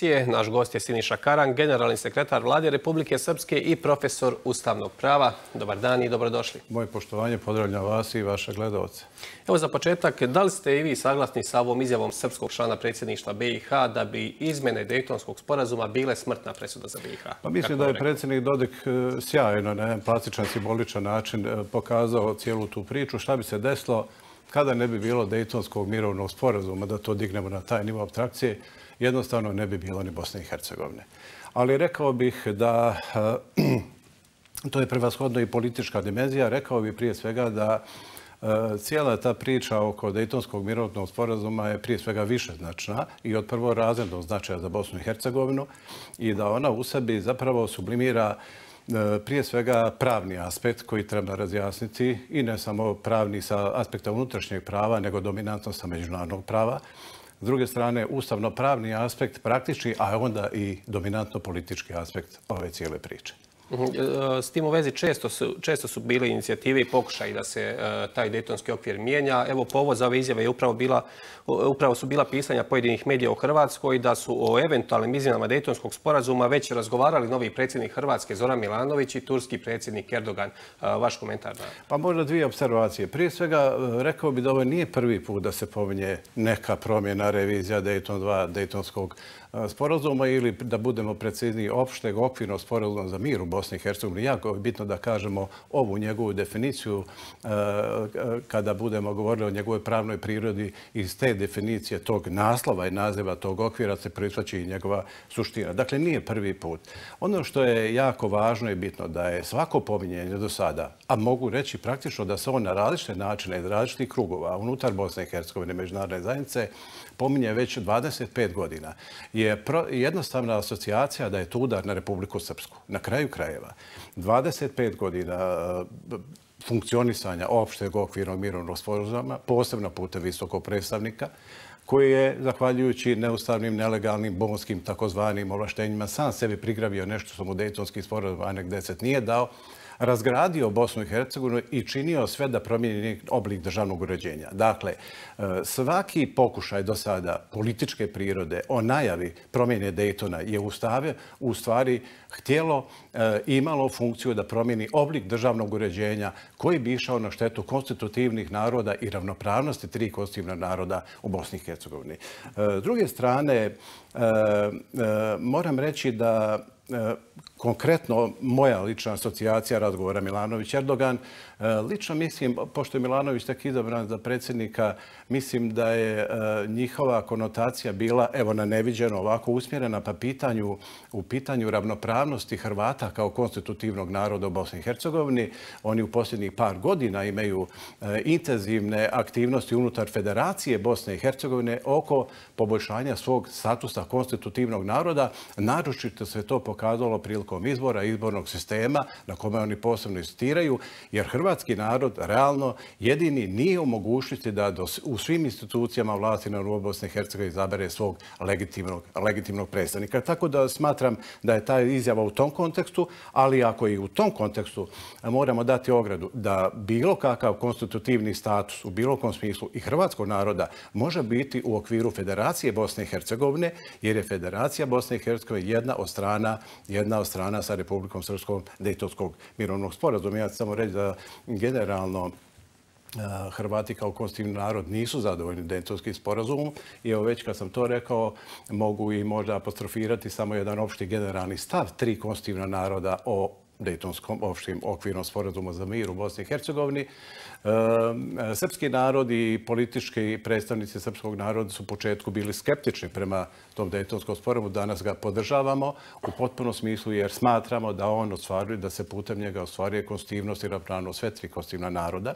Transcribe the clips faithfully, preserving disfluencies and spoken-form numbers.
emisije. Naš gost je Siniša Karan, generalni sekretar Vlade Republike Srpske i profesor ustavnog prava. Dobar dan i dobrodošli. Moje poštovanje, pozdravljam vas i vaše gledalce. Evo za početak, da li ste i vi saglasni sa ovom izjavom srpskog člana predsjedništva B i H da bi izmjene Dejtonskog sporazuma bile smrtna presuda za B i H? Pa mislim da je predsjednik Dodik sjajno na jedan plastičan, simboličan način pokazao cijelu tu priču. Šta bi se desilo kada ne bi bilo Dejtonskog mirovnog sporazuma, da to dignemo na taj nivo apstrakcije, jednostavno ne bi bilo ni Bosne i Hercegovine. Ali rekao bih da to je prevashodno i politička dimenzija. Rekao bih prije svega da cijela ta priča oko Dejtonskog mirovnog sporazuma je prije svega višeznačna i od prvorazrednog značaja za Bosnu i Hercegovinu i da ona u sebi zapravo sublimira prije svega pravni aspekt koji treba razjasniti i ne samo pravni sa aspekta unutrašnjeg prava, nego dominantno sa međunarodnog prava. S druge strane, ustavno-pravni aspekt praktični, a onda i dominantno politički aspekt ove cijele priče. S tim u vezi često su, često su bile inicijative i pokušaj da se uh, taj dejtonski okvir mijenja. Evo, povod za ove izjave je upravo, bila, upravo su bila pisanja pojedinih medija u Hrvatskoj da su o eventualnim izmjenama Dejtonskog sporazuma već razgovarali novi predsjednik Hrvatske Zoran Milanović i turski predsjednik Erdogan. Uh, vaš komentar? Na... Pa možda dvije observacije. Prije svega, rekao bi da ovo nije prvi put da se pominje neka promjena, revizija Dejton dva, Dejtonskog sporazuma ili da budemo precizniji opšteg okvirnog sporazuma za mir u Bosni i Hercegovini. Jako je bitno da kažemo ovu njegovu definiciju kada budemo govorili o njegovoj pravnoj prirodi. Iz te definicije tog naslova i naziva tog okvira se proizlači i njegova suština. Dakle, nije prvi put. Ono što je jako važno i bitno da je svako pominjenje do sada, a mogu reći praktično da se on na različite načine iz različitih krugova unutar Bosne i Hercegovine međunarodne zajednice pominje već dvadeset pet godina. Je jednostavna asocijacija da je to udar na Republiku Srpsku. Na kraju krajeva, dvadeset pet godina funkcionisanja opšteg okvirnog mirovnog sporazuma, posebno putem visokog predstavnika, koji je, zahvaljujući neustavnim, nelegalnim, bonskim, takozvanim ovlaštenjima, sam sebi prigravio nešto što mu Dejtonski sporazum Anek deset nije dao, razgradio Bosnu i Hercegovinu i činio sve da promijeni oblik državnog uređenja. Dakle, svaki pokušaj do sada političke prirode o najavi promjene Dejtona je ustavio, u stvari htjelo i imalo funkciju da promijeni oblik državnog uređenja koji bi išao na štetu konstitutivnih naroda i ravnopravnosti tri konstitutivna naroda u Bosni i Hercegovini. S druge strane, moram reći da konkretno moja lična asocijacija razgovora Milanović-Erdogan, lično mislim, pošto je Milanović tek izabran za predsjednika, mislim da je njihova konotacija bila, evo na neviđeno, ovako usmjerena pa pitanju, u pitanju ravnopravnosti Hrvata kao konstitutivnog naroda u Bosni i Hercegovini. Oni u posljednjih par godina imaju intenzivne aktivnosti unutar Federacije Bosne i Hercegovine oko poboljšanja svog statusa konstitutivnog naroda. Naročito se to pokazalo prilikom izbora, izbornog sistema na kome oni posebno insistiraju, jer hrvatski narod realno jedini nije u mogućnosti da u svim institucijama vlasti na nivou Bosne i Hercegovine izabere svog legitimnog, legitimnog predstavnika. Tako da smatram da je ta izjava u tom kontekstu, ali ako i u tom kontekstu moramo dati ogradu da bilo kakav konstitutivni status u bilo kom smislu i hrvatskog naroda može biti u okviru Federacije Bosne i Hercegovine, jer je Federacija Bosne i Hercegovine jedna od strana, jedna od strana sa Republikom Srpskom Dejtonskog mirovnog sporazuma. Ja ću samo reći da generalno Hrvati kao konstitutivni narod nisu zadovoljni Dejtonskim sporazumom i evo već kad sam to rekao mogu i možda apostrofirati samo jedan opšti generalni stav tri konstitutivna naroda o Dejtonskom opštim okvirnom sporazumu za mir u Bosni i Hercegovini. Srpski narod i politički predstavnici srpskog naroda su u početku bili skeptični prema tom Dejtonskom sporazumu. Danas ga podržavamo u potpunom smislu jer smatramo da on ostvaruje, da se putem njega ostvaruje konstitutivnost i ravnopravnost sve tri konstitutivna naroda.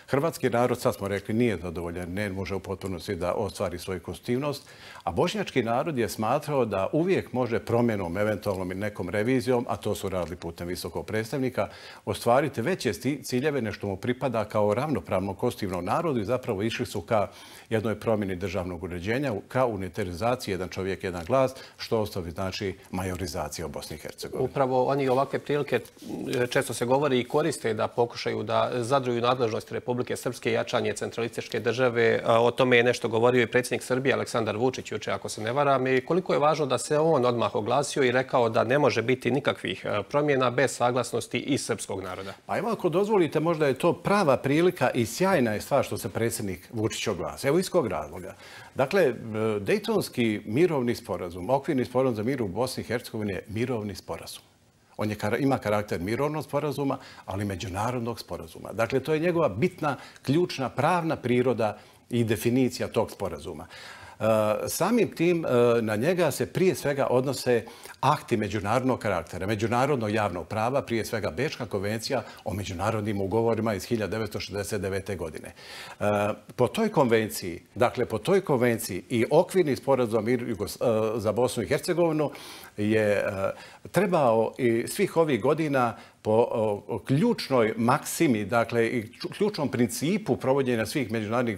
Hrvatski narod, sad smo rekli, nije zadovoljan, ne može u potpunosti da ostvari svoju konstitutivnost, a bošnjački narod je smatrao da uvijek može promjenom, eventualnom i nekom revizijom, a to su radili putem visokog predstavnika, ostvariti veće ciljeve nešto mu pripada kao ravnopravno konstitutivnom narodu i zapravo išli su ka jednoj promjeni državnog uređenja, ka unitarizaciji jedan čovjek, jedan glas, što ostavi znači majorizacija u Bosni i Hercegovini. Upravo oni ovakve prilike često se govori i koriste da pokušaju da zadruju nadležnosti Republike Republike Srpske i jačanje centralističke države. O tome je nešto govorio i predsjednik Srbije Aleksandar Vučić juče, ako se ne varam. I koliko je važno da se on odmah oglasio i rekao da ne može biti nikakvih promjena bez saglasnosti i srpskog naroda. Pa evo, ako dozvolite, možda je to prava prilika i sjajna je stvar što se predsjednik Vučić oglasio. Evo iz kog razloga. Dakle, Dejtonski mirovni sporazum, okvirni sporazum za mir u Bosni i Hercegovini je mirovni sporazum. On je, ima karakter mirovnog sporazuma, ali međunarodnog sporazuma. Dakle, to je njegova bitna, ključna, pravna priroda i definicija tog sporazuma. Samim tim na njega se prije svega odnose akti međunarodnog karaktera, međunarodnog javnog prava, prije svega Bečka konvencija o međunarodnim ugovorima iz hiljadu devetsto šezdeset devete. godine. Po toj konvenciji, dakle po toj konvenciji i okvirni sporazum za Bosnu i Hercegovinu je trebao i svih ovih godina po ključnoj maksimi, dakle i ključnom principu provođenja svih međunarodnih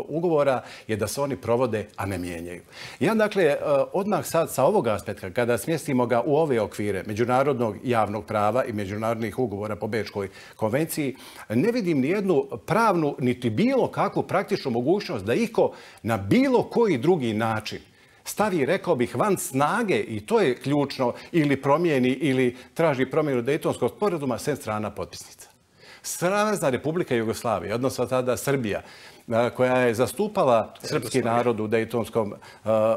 ugovora je da se oni provode, a ne mijenjaju. Ja, dakle, odmah sad sa ovog aspekta, kada smjestimo ga u ove okvire međunarodnog javnog prava i međunarodnih ugovora po Bečkoj konvenciji, ne vidim ni jednu pravnu, niti bilo kakvu praktičnu mogućnost da iko na bilo koji drugi način stavi, rekao bih, van snage, i to je ključno, ili promijeni ili traži promjenu Dejtonskog sporazuma sem strana potpisnica. Savezna Republika Jugoslavija, odnosno tada Srbija, koja je zastupala srpski narod u Dejtonskom,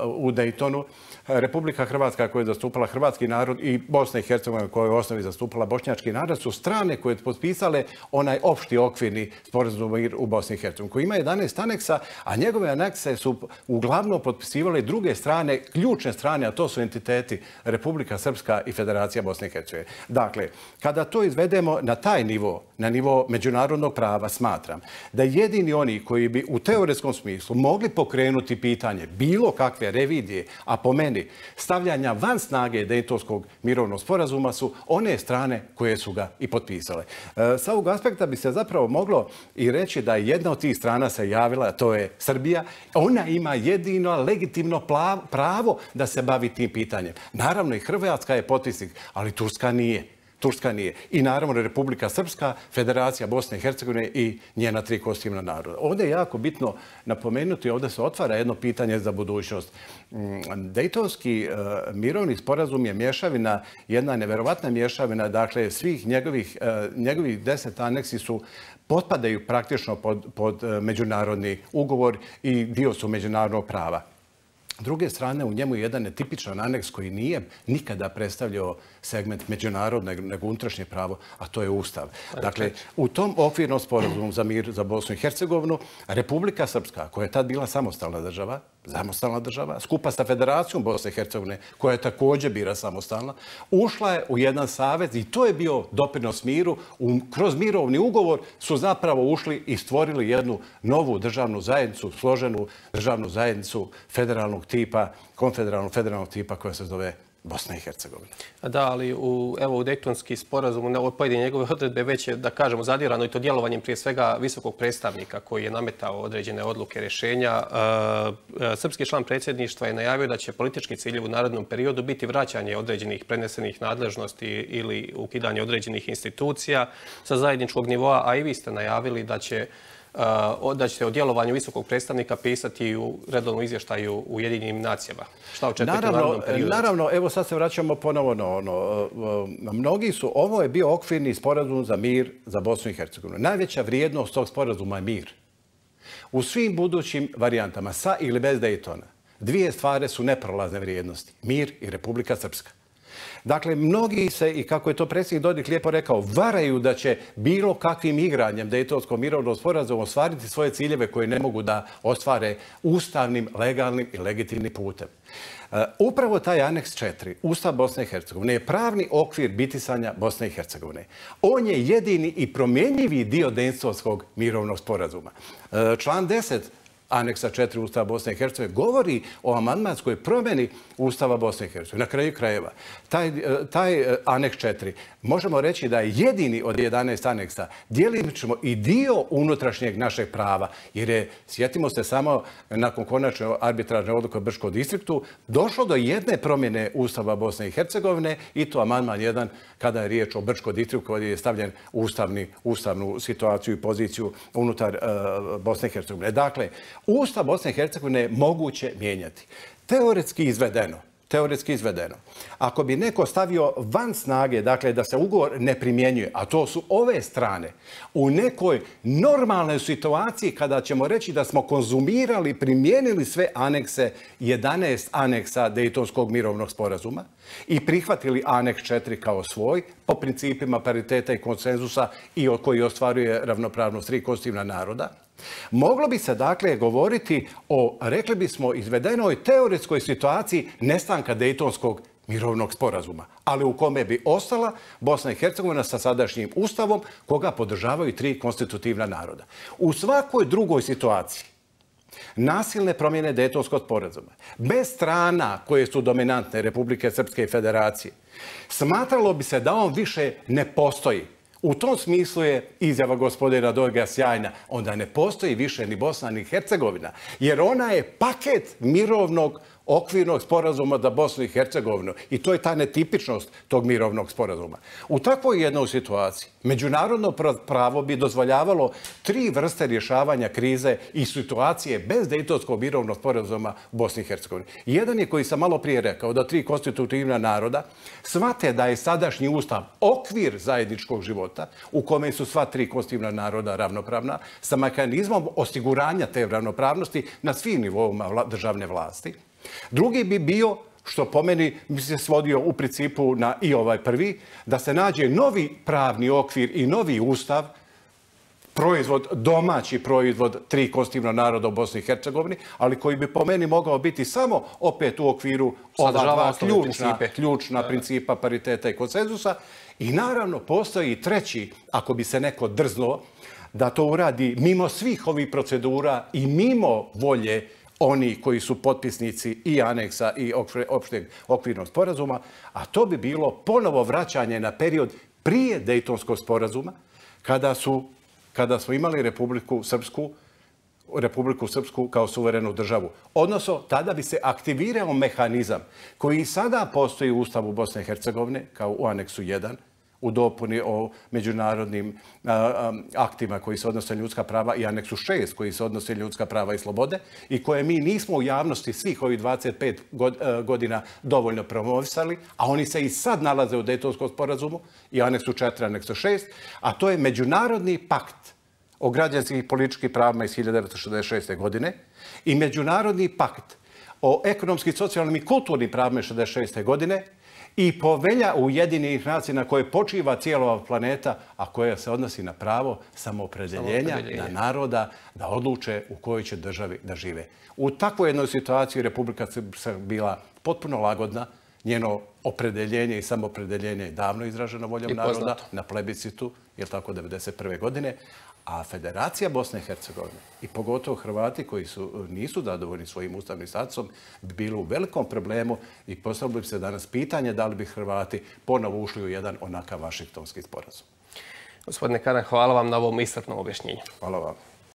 u Dejtonu, Republika Hrvatska koja je zastupala hrvatski narod i Bosna i Hercegovina koja je u osnovi zastupala bošnjački narod su strane koje su potpisale onaj opšti okvirni sporazum u Bosni i Hercegovini koji ima jedanaest aneksa, a njegove anekse su uglavnom potpisivale druge strane, ključne strane, a to su entiteti Republika Srpska i Federacija Bosne i Hercegovine. Dakle, kada to izvedemo na taj nivo, na nivo međunarodnog prava, smatram da jedini oni koji bi u teoretskom smislu mogli pokrenuti pitanje bilo kakve revidije, a po meni stavljanja van snage Dejtonskog mirovnog sporazuma su one strane koje su ga i potpisale. Sa ovog aspekta bi se zapravo moglo i reći da jedna od tih strana se javila, to je Srbija. Ona ima jedino legitimno pravo da se bavi tim pitanjem. Naravno i Hrvatska je potpisnik, ali Turska nije. Turska nije. I naravno Republika Srpska, Federacija Bosne i Hercegovine i njena tri konstitutivna naroda. Ovdje je jako bitno napomenuti, ovdje se otvara jedno pitanje za budućnost. Dejtonski mirovni sporazum je mješavina, jedna neverovatna mješavina, dakle svih njegovih, njegovih deset aneksi su potpadaju praktično pod, pod međunarodni ugovor i dio su međunarodnog prava. S druge strane, u njemu je jedan netipičan aneks koji nije nikada predstavljao segment međunarodnog nego unutrašnje pravo, a to je Ustav. Dakle, u tom okvirnom sporazumu za mir za Bosnu i Hercegovinu, Republika Srpska, koja je tad bila samostalna država, samostalna država, skupa sa Federacijom Bosne i Hercegovine, koja je također bila samostalna, ušla je u jedan savez i to je bio doprinos miru. Kroz mirovni ugovor su zapravo ušli i stvorili jednu novu državnu zajednicu, složenu državnu zajednicu federalnog tipa, konfederalnog federalnog tipa koja se zove Bosna i Hercegovina. Da, ali u, evo, u Dejtonski sporazum, u pojedine njegove odredbe već je, da kažemo, zadirano i to djelovanjem prije svega visokog predstavnika koji je nametao određene odluke rješenja. Srpski član predsjedništva je najavio da će politički ciljevi u narednom periodu biti vraćanje određenih prenesenih nadležnosti ili ukidanje određenih institucija sa zajedničkog nivoa, a i vi ste najavili da će da ćete o djelovanju visokog predstavnika pisati u redovnom izvještaju u Ujedinjenim nacijama. Šta očekujete u narednom periodu? Naravno, evo sad se vraćamo ponovo na ono. Mnogi su, ovo je bio okvirni sporazum za mir za Bosnu i Hercegovinu. Najveća vrijednost tog sporazuma je mir. U svim budućim varijantama, sa ili bez Dejtona, dvije stvari su neprolazne vrijednosti. Mir i Republika Srpska. Dakle, mnogi se, i kako je to predsjednik Dodik lijepo rekao, varaju da će bilo kakvim igranjem Dejtonskog mirovnog sporazuma ostvariti svoje ciljeve koje ne mogu da ostvare ustavnim, legalnim i legitimnim putem. Upravo taj aneks četiri, Ustav Bosne i Hercegovine, je pravni okvir bitisanja Bosne i Hercegovine. On je jedini i promjenjivi dio Dejtonskog mirovnog sporazuma. Član deset aneksa četiri Ustava Bosne i Hercegovine, govori o amandmanskoj promjeni Ustava Bosne i Hercegovine. Na kraju krajeva, taj, taj aneks četiri, možemo reći da je jedini od jedanaest aneksa djelimično i dio unutrašnjeg našeg prava, jer je, sjetimo se samo, nakon konačne arbitražne odluke u Brčkom distriktu, došlo do jedne promjene Ustava Bosne i Hercegovine i to amandman jedan kada je riječ o Brčkom distriktu koji je stavljen u ustavni, ustavnu situaciju i poziciju unutar uh, Bosne i Hercegovine. Dakle, Ustav Bosne i Hercegovine je moguće mijenjati. Teoretski izvedeno, teoretski izvedeno. Ako bi neko stavio van snage, dakle da se ugovor ne primjenjuje, a to su ove strane, u nekoj normalnoj situaciji kada ćemo reći da smo konzumirali, primijenili sve anekse, jedanaest aneksa Dejtonskog mirovnog sporazuma i prihvatili aneks četiri kao svoj, po principima pariteta i konsenzusa i koji ostvaruje ravnopravnost tri konstitutivna naroda, moglo bi se dakle govoriti o, rekli bismo, izvedenoj teoretskoj situaciji nestanka Dejtonskog mirovnog sporazuma, ali u kome bi ostala Bosna i Hercegovina sa sadašnjim ustavom koga podržavaju tri konstitutivna naroda. U svakoj drugoj situaciji nasilne promjene Dejtonskog sporazuma, bez strana koje su dominantne Republike Srpske i Federacije, smatralo bi se da on više ne postoji. U tom smislu je izjava gospodina Dojga sjajna. Onda ne postoji više ni Bosna ni Hercegovina, jer ona je paket mirovnog okvirnog sporazuma za Bosnu i Hercegovinu. I to je ta netipičnost tog mirovnog sporazuma. U takvoj jednoj situaciji međunarodno pravo bi dozvoljavalo tri vrste rješavanja krize i situacije bez Dejtonskog mirovnog sporazuma u Bosni i Hercegovini. Jedan je koji sam malo prije rekao da tri konstitutivna naroda shvate da je sadašnji ustav okvir zajedničkog života u kome su sva tri konstitutivna naroda ravnopravna sa mehanizmom osiguranja te ravnopravnosti na svim nivoima državne vlasti. Drugi bi bio, što po meni bi se svodio u principu na i ovaj prvi, da se nađe novi pravni okvir i novi ustav, proizvod, domaći proizvod tri konstitutivna naroda u Bosni i Hercegovini, ali koji bi po meni mogao biti samo opet u okviru ova dva ključna, ključna principa pariteta i konsenzusa. I naravno postoji i treći, ako bi se neko drznuo, da to uradi mimo svih ovih procedura i mimo volje oni koji su potpisnici i aneksa i opšteg okvirnog sporazuma, a to bi bilo ponovo vraćanje na period prije Dejtonskog sporazuma, kada su, kada smo imali Republiku Srpsku, Republiku Srpsku kao suverenu državu. Odnosno, tada bi se aktivirao mehanizam koji sada postoji u Ustavu Bosne i Hercegovine, kao u aneksu jedan, u dopuni o međunarodnim a, a, aktima koji se odnose na ljudska prava i aneksu šest koji se odnose na ljudska prava i slobode i koje mi nismo u javnosti svih ovih dvadeset pet godina dovoljno promovisali, a oni se i sad nalaze u Dejtonskom sporazumu i aneksu četiri, aneksu šest, a to je Međunarodni pakt o građanskim i političkim pravima iz hiljadu devetsto šezdeset šeste. godine i Međunarodni pakt o ekonomskim, socijalnim i kulturnim pravima iz šezdeset šeste. godine i Povelja Ujedinjenih nacija na koje počiva cijela ova planeta, a koja se odnosi na pravo samoopredeljenja na naroda da odluče u kojoj će državi da žive. U takvoj jednoj situaciji Republika Srpska bila potpuno lagodna, njeno opredeljenje i samoopredeljenje je davno izraženo voljom naroda na plebiscitu, je tako, devedeset prve. godine, a Federacija Bosne i Hercegovine i pogotovo Hrvati koji su, nisu zadovoljni svojim ustavnim statusom bi bili u velikom problemu i postavilo bi se danas pitanje da li bi Hrvati ponovo ušli u jedan onakav Vašingtonski sporazum. Gospodine Karan, hvala vam na ovom iscrpnom objašnjenju. Hvala vam.